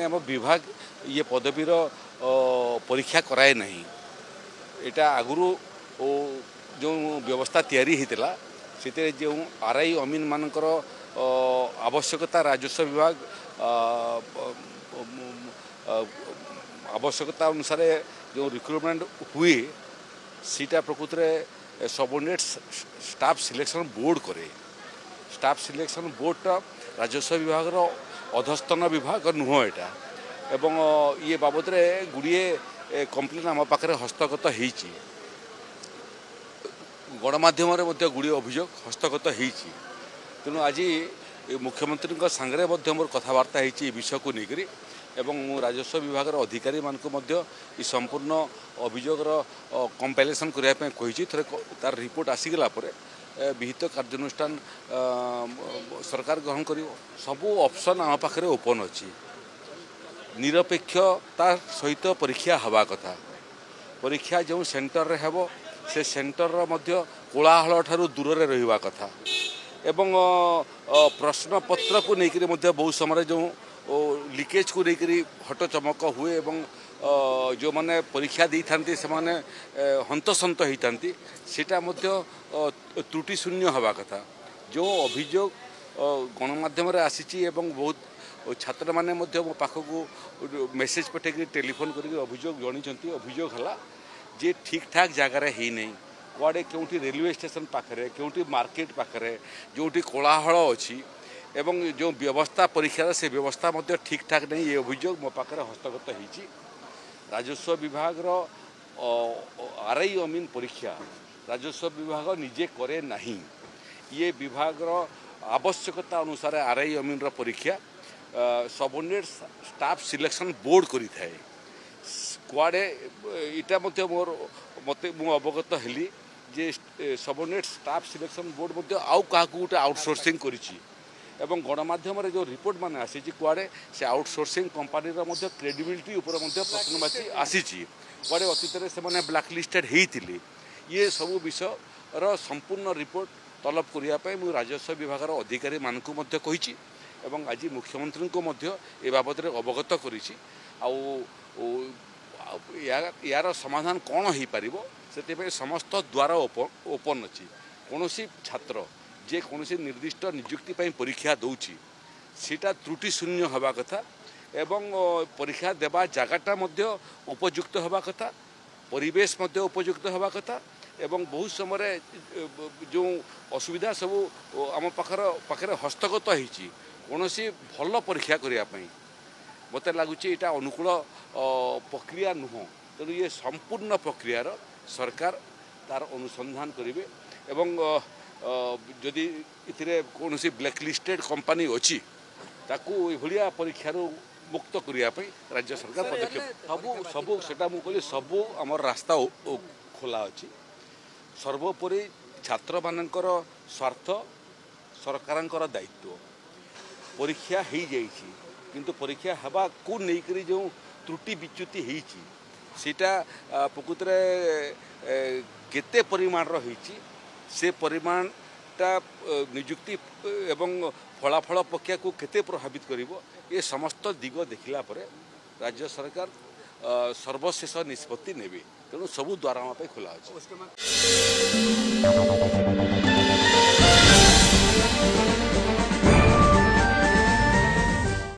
ଆମ ବିଭାଗ ଇଏ ପଦବୀର ପରୀକ୍ଷା କରାଏ ନାହିଁ। ଏଇଟା ଆଗରୁ ଯେଉଁ ବ୍ୟବସ୍ଥା ତିଆରି ହେଇଥିଲା, ସେଥିରେ ଯେଉଁ ଆର୍ I ଅମିନ ମାନଙ୍କର ଆବଶ୍ୟକତା, ରାଜସ୍ୱ ବିଭାଗ ଆବଶ୍ୟକତା ଅନୁସାରେ ଯେଉଁ ରିକ୍ରୁଟମେଣ୍ଟ ହୁଏ, ସେଇଟା ପ୍ରକୃତରେ ସବଅର୍ଡ଼ିନେଟ୍ ଷ୍ଟାଫ୍ ସିଲେକ୍ସନ୍ ବୋର୍ଡ଼ କରେ। ଷ୍ଟାଫ୍ ସିଲେକ୍ସନ୍ ବୋର୍ଡ଼ଟା ରାଜସ୍ୱ ବିଭାଗର ଅଧସ୍ତନ ବିଭାଗ ନୁହଁ ଏଇଟା। ଏବଂ ଇଏ ବାବଦରେ ଗୁଡ଼ିଏ କମ୍ପ୍ଲେନ୍ ଆମ ପାଖରେ ହସ୍ତଗତ ହେଇଛି, ଗଣମାଧ୍ୟମରେ ମଧ୍ୟ ଗୁଡ଼ିଏ ଅଭିଯୋଗ ହସ୍ତଗତ ହେଇଛି। ତେଣୁ ଆଜି ମୁଖ୍ୟମନ୍ତ୍ରୀଙ୍କ ସାଙ୍ଗରେ ମଧ୍ୟ ମୋର କଥାବାର୍ତ୍ତା ହେଇଛି ଏ ବିଷୟକୁ ନେଇକରି, ଏବଂ ମୁଁ ରାଜସ୍ୱ ବିଭାଗର ଅଧିକାରୀମାନଙ୍କୁ ମଧ୍ୟ ଏ ସମ୍ପୂର୍ଣ୍ଣ ଅଭିଯୋଗର କମ୍ପାଇଲେସନ୍ କରିବା ପାଇଁ କହିଛି। ଥରେ ତାର ରିପୋର୍ଟ ଆସିଗଲା ପରେ ବିହିତ କାର୍ଯ୍ୟାନୁଷ୍ଠାନ ସରକାର ଗ୍ରହଣ କରିବ। ସବୁ ଅପସନ୍ ଆମ ପାଖରେ ଓପନ୍ ଅଛି। ନିରପେକ୍ଷତା ସହିତ ପରୀକ୍ଷା ହେବା କଥା, ପରୀକ୍ଷା ଯେଉଁ ସେଣ୍ଟରରେ ହେବ ସେ ସେଣ୍ଟରର ମଧ୍ୟ କୋଳାହଳ ଠାରୁ ଦୂରରେ ରହିବା କଥା, ଏବଂ ପ୍ରଶ୍ନପତ୍ରକୁ ନେଇକରି ମଧ୍ୟ ବହୁତ ସମୟରେ ଯେଉଁ ଲିକେଜକୁ ନେଇକରି ହଟଚମକ ହୁଏ ଏବଂ ଯେଉଁମାନେ ପରୀକ୍ଷା ଦେଇଥାନ୍ତି ସେମାନେ ହନ୍ତସନ୍ତ ହେଇଥାନ୍ତି, ସେଇଟା ମଧ୍ୟ ତ୍ରୁଟି ଶୂନ୍ୟ ହେବା କଥା। ଯେଉଁ ଅଭିଯୋଗ ଗଣମାଧ୍ୟମରେ ଆସିଛି ଏବଂ ବହୁତ ଛାତ୍ରମାନେ ମଧ୍ୟ ମୋ ପାଖକୁ ମେସେଜ ପଠେଇକି, ଟେଲିଫୋନ୍ କରିକି ଅଭିଯୋଗ ଜଣାଇଛନ୍ତି, ଅଭିଯୋଗ ହେଲା ଯେ ଠିକ୍ ଠାକ୍ ଜାଗାରେ ହେଇନାହିଁ। କୁଆଡ଼େ କେଉଁଠି ରେଲୱେ ଷ୍ଟେସନ ପାଖରେ, କେଉଁଠି ମାର୍କେଟ ପାଖରେ, ଯେଉଁଠି କୋଳାହଳ ଅଛି, ଏବଂ ଯେଉଁ ବ୍ୟବସ୍ଥା ପରୀକ୍ଷାର ସେ ବ୍ୟବସ୍ଥା ମଧ୍ୟ ଠିକ୍ ଠାକ୍ ନାହିଁ। ଏ ଅଭିଯୋଗ ମୋ ପାଖରେ ହସ୍ତଗତ ହେଇଛି। ରାଜସ୍ୱ ବିଭାଗର ଆର୍ I ଅମିନ ପରୀକ୍ଷା ରାଜସ୍ୱ ବିଭାଗ ନିଜେ କରେ ନାହିଁ। ଇଏ ବିଭାଗର ଆବଶ୍ୟକତା ଅନୁସାରେ ଆର୍ I ଅମିନର ପରୀକ୍ଷା ସବଅର୍ଡ଼ିନେଟ୍ ଷ୍ଟାଫ୍ ସିଲେକ୍ସନ୍ ବୋର୍ଡ଼ କରିଥାଏ। କୁଆଡ଼େ ଏଇଟା ମଧ୍ୟ ମୋର ମୋତେ ମୁଁ ଅବଗତ ହେଲି ଯେ ସବଅର୍ଡ଼ିନେଟ୍ ଷ୍ଟାଫ୍ ସିଲେକ୍ସନ୍ ବୋର୍ଡ଼ ମଧ୍ୟ ଆଉ କାହାକୁ ଗୋଟେ ଆଉଟସୋର୍ସିଂ କରିଛି, ଏବଂ ଗଣମାଧ୍ୟମରେ ଯେଉଁ ରିପୋର୍ଟ ମାନେ ଆସିଛି, କୁଆଡ଼େ ସେ ଆଉଟସୋର୍ସିଂ କମ୍ପାନୀର ମଧ୍ୟ କ୍ରେଡ଼ିବିଲିଟି ଉପରେ ମଧ୍ୟ ପ୍ରଶ୍ନବାଚୀ ଆସିଛି। କୁଆଡ଼େ ଅତୀତରେ ସେମାନେ ବ୍ଲାକ୍ ଲିଷ୍ଟେଡ଼ ହେଇଥିଲେ। ଇଏ ସବୁ ବିଷୟର ସମ୍ପୂର୍ଣ୍ଣ ରିପୋର୍ଟ ତଲବ କରିବା ପାଇଁ ମୁଁ ରାଜସ୍ୱ ବିଭାଗର ଅଧିକାରୀମାନଙ୍କୁ ମଧ୍ୟ କହିଛି ଏବଂ ଆଜି ମୁଖ୍ୟମନ୍ତ୍ରୀଙ୍କୁ ମଧ୍ୟ ଏ ବାବଦରେ ଅବଗତ କରିଛି। ଆଉ ଏହାର ସମାଧାନ କ'ଣ ହେଇପାରିବ, ସେଥିପାଇଁ ସମସ୍ତ ଦ୍ୱାର ଓପନ୍ ଅଛି। କୌଣସି ଛାତ୍ର ଯେ କୌଣସି ନିର୍ଦ୍ଦିଷ୍ଟ ନିଯୁକ୍ତି ପାଇଁ ପରୀକ୍ଷା ଦେଉଛି, ସେଇଟା ତ୍ରୁଟି ଶୂନ୍ୟ ହେବା କଥା, ଏବଂ ପରୀକ୍ଷା ଦେବା ଜାଗାଟା ମଧ୍ୟ ଉପଯୁକ୍ତ ହେବା କଥା, ପରିବେଶ ମଧ୍ୟ ଉପଯୁକ୍ତ ହେବା କଥା। ଏବଂ ବହୁତ ସମୟରେ ଯେଉଁ ଅସୁବିଧା ସବୁ ଆମ ପାଖରେ ହସ୍ତଗତ ହେଇଛି, କୌଣସି ଭଲ ପରୀକ୍ଷା କରିବା ପାଇଁ ମୋତେ ଲାଗୁଛି ଏଇଟା ଅନୁକୂଳ ପ୍ରକ୍ରିୟା ନୁହଁ। ତେଣୁ ଇଏ ସମ୍ପୂର୍ଣ୍ଣ ପ୍ରକ୍ରିୟାର ସରକାର ତାର ଅନୁସନ୍ଧାନ କରିବେ, ଏବଂ ଯଦି ଏଥିରେ କୌଣସି ବ୍ଲାକ୍ ଲିଷ୍ଟେଡ଼ କମ୍ପାନୀ ଅଛି, ତାକୁ ଏଭଳିଆ ପରୀକ୍ଷାରୁ ମୁକ୍ତ କରିବା ପାଇଁ ରାଜ୍ୟ ସରକାର ପଦକ୍ଷେପ ସବୁ ସେଟା ମୁଁ କହିଲି, ସବୁ ଆମର ରାସ୍ତା ଖୋଲା ଅଛି। ସର୍ବୋପରି ଛାତ୍ରମାନଙ୍କର ସ୍ୱାର୍ଥ ସରକାରଙ୍କର ଦାୟିତ୍ୱ। ପରୀକ୍ଷା ହେଇଯାଇଛି, କିନ୍ତୁ ପରୀକ୍ଷା ହେବାକୁ ନେଇକରି ଯେଉଁ ତ୍ରୁଟି ବିଚ୍ୟୁତି ହେଇଛି, ସେଇଟା ପ୍ରକୃତରେ କେତେ ପରିମାଣର ହେଇଛି, ସେ ପରିମାଣଟା ନିଯୁକ୍ତି ଏବଂ ଫଳାଫଳ ପ୍ରକ୍ରିୟାକୁ କେତେ ପ୍ରଭାବିତ କରିବ, ଏ ସମସ୍ତ ଦିଗ ଦେଖିଲା ପରେ ରାଜ୍ୟ ସରକାର ସର୍ବଶେଷ ନିଷ୍ପତ୍ତି ନେବେ। ତେଣୁ ସବୁ ଦ୍ୱାର ଆମ ପାଇଁ ଖୋଲା ଅଛି।